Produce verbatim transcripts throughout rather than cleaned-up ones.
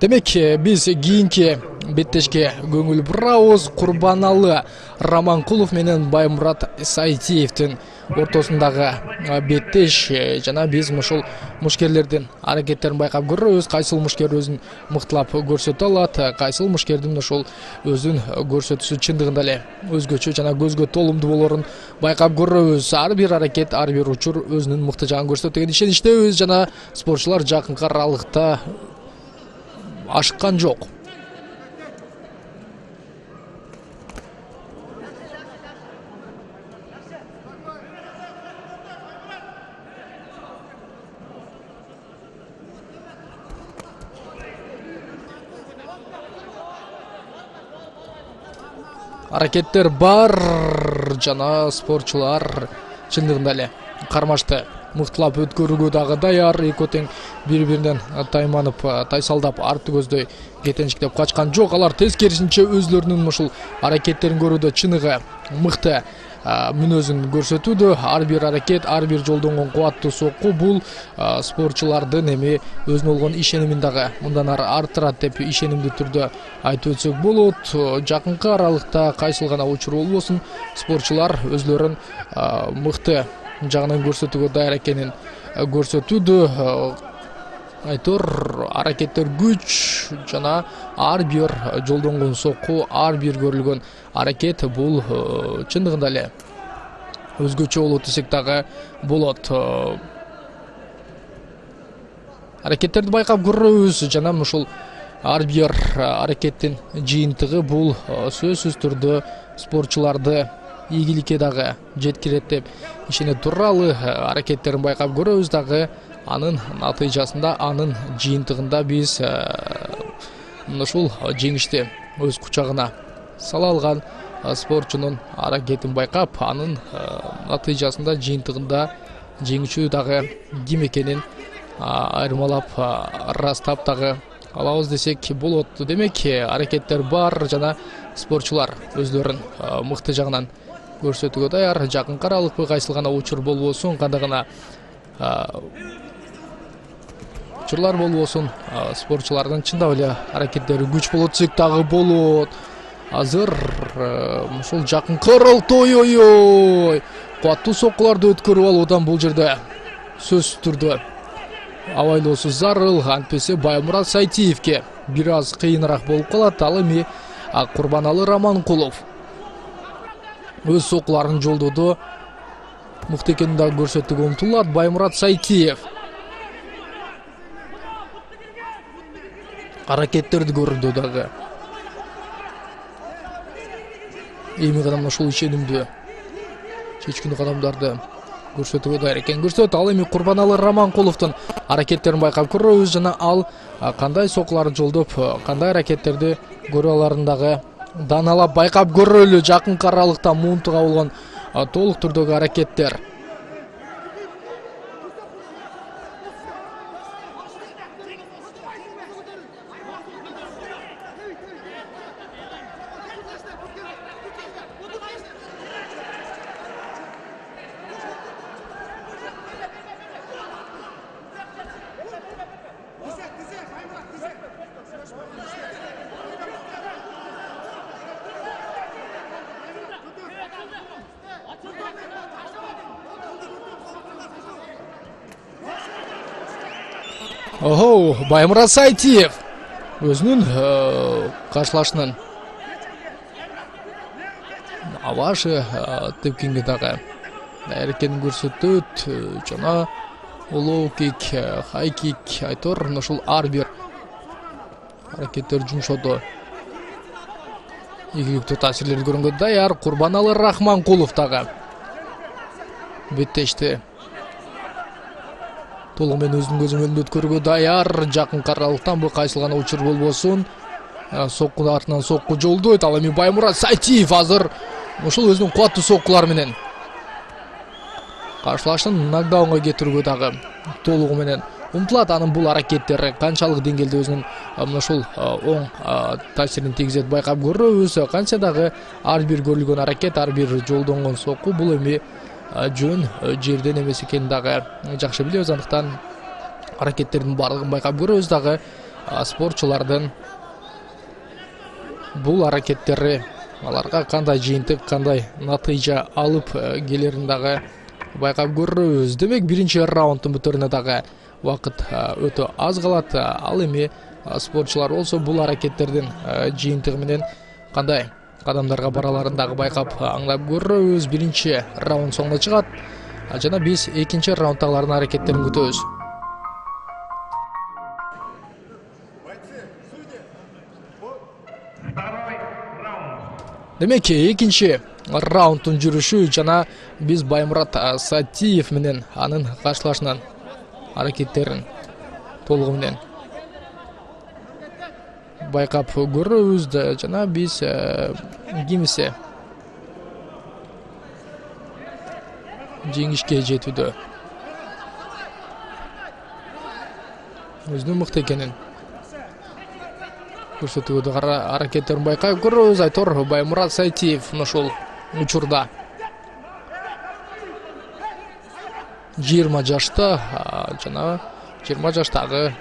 Демек биз кийинки беттешке көңүл бурабыз. Курбаналы Раманкулов менен Баймурат Сайтиевдин ортосундагы беттеш жана биз ушул мушкерлердин аракеттерин байкап көрөбүз. Кайсыл мушкер өзүн мыктылап көрсөтө алат, кайсыл мушкердин ушул өзүн көрсөтүүсү чындыгында эле өзгөчө жана көзгө толумдуу болорун байкап көрөбүз. Ар бир аракет, ар бир учур өзүнүн мыкты жагын көрсөтөт деген ишеничтебиз жана спортчулар жакынкы аралыкта ашыккан жок. Аракеттер бар жана спортчулар чындыгында эле кармашты мыктылап өткөрүүгө дагы даяр. Эки тең бири-биринен тайманып, тайсалдап, арты көздөй кетенчиктеп качкан жок. Алар тескерисинче өзлөрүнүн ушул аракеттерин көрүүдө чыныгы мыкты мүнөзүн көрсөтүүдө. Ар бир аракет, ар бир жолдонгон кубаттуу сокку бул спортчулардын эми өзүнө болгон ишенимин дагы мындан ары арттырат деп ишенимдүү түрдө айтып өтсөк болот. Жакынкы аралыкта кайсыл гана учур болбосун спортчулар өзлөрүн мыкты жагынан көрсөтүүгө даяр экенин көрсөтүүдө. Айтор аракеттер күч жана ар бир жолдонгон сокку, ар бир көрүлгөн аракет бул чындыгында эле өзгөчө болот десек дагы болот. Аракеттерди байкап көрөбүз жана ушул ар бир аракеттин жыйынтыгы бул сөзсүз түрдө спортчуларды ийгиликке дагы жеткирет деп ишене туралы. Аракеттерин байкап көрөбүз дагы анын натыйжасында, анын жыйынтыгында биз ушул жеңишти өз кучагына сала алган спортчунун аракетин байкап, анын натыйжасында, жыйынтыгында жеңүүчү дагы ким экенин айырмалап ырастап дагы алабыз десек болот. Демек аракеттер бар жана спортчулар өзлөрүн мыкты жагынан көрсөтүүгө даяр. Жакынкы аралыкпы, кайсыл гана учур болбосун, кандай гана учурлар болбосун, спортчулардын чындап эле аракеттери күч болот десек дагы болот. Азыр ушул жакынкы аралыкта ой-ой-ой кубаттуу соккуларды өткөрүп алуудан бул жерде сөзсүз түрдө абайлоосу зарыл. Антпесе Баймурат Сайтиевке бир аз кыйыныраак болуп калат. Ал эми Курбаналы Раманкулов өз соккуларын жолдоодо мыкты экенин дагы көрсөтүүгө умтулат. Баймурат Сайтиев аракеттерди көрүүдө дагы эми гана ушул ишенимдүү чечкиндүү кадамдарды көрсөтүүгө даяр экенин көрсөтөт. Ал эми Курбаналы Раманкуловдун аракеттерин байкап көрөбүз жана ал кандай соккуларды жолдоп, кандай аракеттерди көрө аларын дагы дааналап байкап көрөлү. Жакынкы аралыкта муунтуга болгон толук түрдөгү аракеттер. Охо, Баймурат Сайтиев өзүнүн каршылашынын авашы тепкенге дагы даяр экенин көрсөтөт жана лоу кик, хай кик, айтор ушул ар бир аракеттер жумшоодо ийгиликтүү таасирлерди көргөнгө даяр. Курбаналы Раманкулов дагы беттешти толугу менен өзүнүн көзү мөндө өткөрүүгө даяр. Жакынкы аралыктан бул кайсыл гана учур болбосун сокку артынан сокку жолдойт. Ал эми Баймурат Сайтиев азыр ушул өзүнүн кубаттуу соккулары менен каршылашын нокдаунга кетирүүгө дагы толугу менен умтулат. Анын бул аракеттери канчалык деңгээлде өзүнүн ушул оң таасирин тийгизет байкап көрөбүз. Кантсе дагы ар бир көрүлгөн аракет, ар бир жолдонгон сокку бул эми жөн жерден эмес экенин дагы жакшы билебиз. Андыктан аракеттердин баардыгын байкап көрөбүз дагы спортчулардын бул аракеттери аларга кандай жыйынтык, кандай натыйжа алып келерин дагы байкап көрөбүз. Демек биринчи раунддун бүтөрүнө дагы убакыт өтө аз калат. Ал эми спортчулар болсо бул аракеттердин жыйынтыгы менен кандай кадамдарга бараларын дагы байкап аңлап көрөбүз. Биринчи раунд соңуна чыгат жана биз экинчи раундтагылардын аракеттерин күтөбүз. Демек экинчи раунддун жүрүшү жана биз Баймурат Сатиев менен анын каршылашынан аракеттерин толугу менен байкап көрөбүз жана биз кимисе жеңишке жетүүдө өзүнүн мыкты экенин көрсөтүүдө аракеттерин байкап көрөбүз. Айтор Баймурат Сатиев ушул учурда жыйырма жашта жана жыйырма жаштагы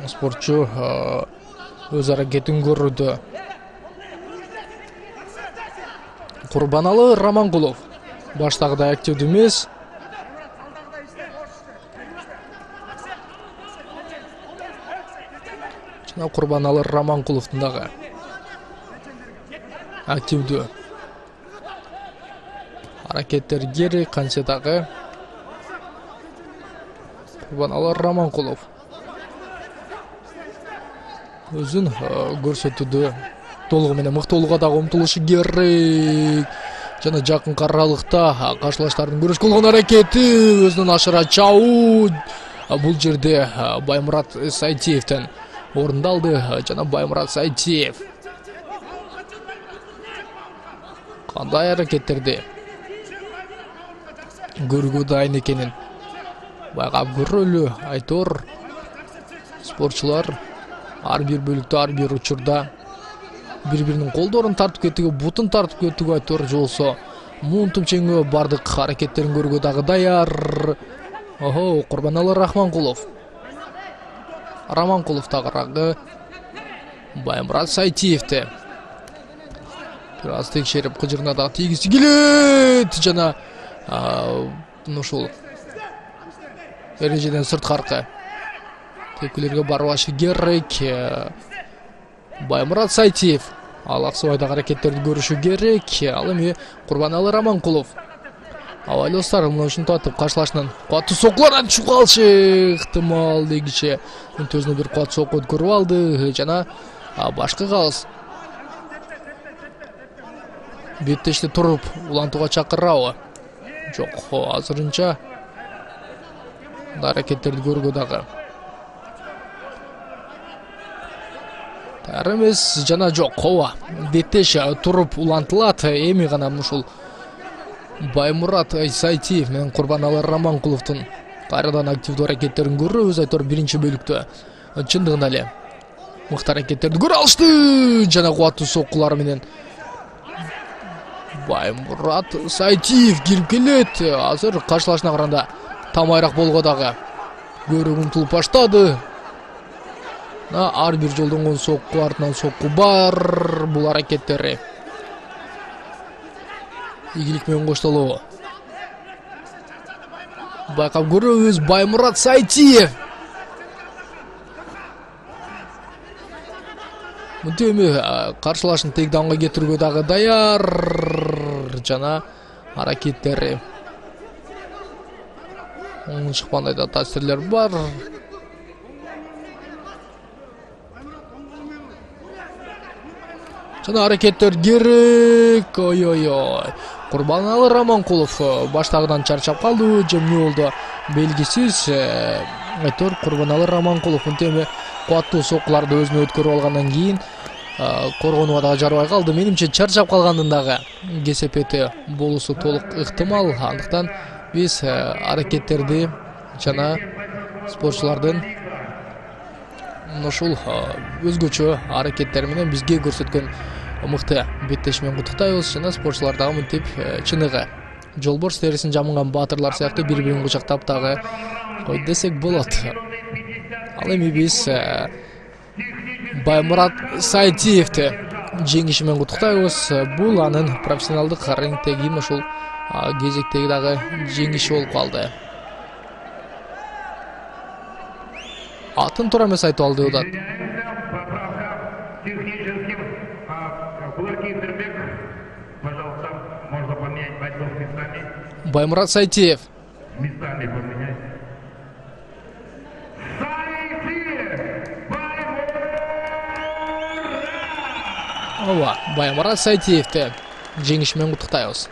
спортчу өз аракетин көрүүдө. Курбаналы Раманкулов баштагыдай активдүү эмес. Жана Курбаналы Раманкуловдун дагы активдүү аракеттер керек канча дагы. Курбаналы Раманкулов өзүн көрсөтүүдө толугу менен мыктуулукка дагы умтулушу керек. Жана жакынкы аралыкта каршылаштардын күрөш кылган аракети өзүнөн ашыра чабуу бул жерде Баймурат Сайтиевден орундалды жана Баймурат Сайтиев кандай аракеттерди көрүүгө дайын экенин байкап көрөлү. Айтор спортчулар ар бир бөлүктө, ар бир учурда бири-биринин колдорун тартып кетүүгө, бутун тартып кетүүгө айтор же болсо муун тумчеңөө бардык аракеттерин көрүүгө дагы даяр. Охо, Курбаналы Раманкулов. Раманкулов тагыраагы Баймурат Сайтиевди бир аз текшерип кыжырына дагы тийгиси келет жана ушул эрежеден сырткаркы тепкилерге барбашы керек. Баймурат Сайтиев алаксыбайдагы аракеттерди көрүшү керек. Ал эми Курбаналы Раманкулов абайлостар мына ушинтип атып каршылашынан катуу соккулардан түшүп калышы ыктымал дегиче өзүнө бир катуу сокку өткөрүп алды жана башкы калыс беттеште туруп улантууга чакырабы? Жок, азырынча аракеттерди көрүүгө дагы таяр эмес жана жок, ооба беттеш туруп улантылат. Эми гана ушул Баймурат Сайтиев менен Курбаналы Раманкуловдун кайрадан активдүү аракеттерин көрөбүз. Айтор биринчи бөлүктө чындыгында эле мыкты аракеттерди көрө алышты жана кубаттуу соккулар менен Баймурат Сайтиев кирип келет. Азыр каршылашына караганда тамайраак болгоо дагы көрүүгө умтулуп баштады. Ар бир жолдонгон сокку артынан сокку бар. Бул аракеттери ийгилик менен коштолобу байкап көрөбүз. Баймурат Сайтиев мынтип эми каршылашын тейкдаунга кетирүүгө дагы даяр жана аракеттери оң чыккандай да таасирлер бар. Жана аракеттер керек. Ой-ой-ой. Курбаналы Раманкулов баштагыдан чарчап калды же эмне болду белгисиз. Айтор Курбаналы Раманкулов мынтип кубаттуу соккуларды өзүнө өткөрүп алгандан кийин коргонууга дагы жарабай калды. Менимче чарчап калгандын дагы кесепети болуусу толук ыктымал. Андыктан биз аракеттерди жана спортчулардын ушул өзгөчө аракеттери менен бизге көрсөткөн мыкты беттеш менен куттуктайбыз жана спортчулар дагы мынтип чыныгы жолборс терисин жамынган баатырлар сыяктуу бири-бирин кучактап дагы кой десек болот. Ал эми биз Баймурат Сайтиевди жеңиши менен куттуктайбыз. Бул анын профессионалдык рингдеги ушул кезектеги дагы жеңиши болуп калды. Атын туура эмес айтып алды деп атат. Баймурат Сайтиев. Ооба, Баймурат Сайтиевди жеңиши менен куттуктайбыз.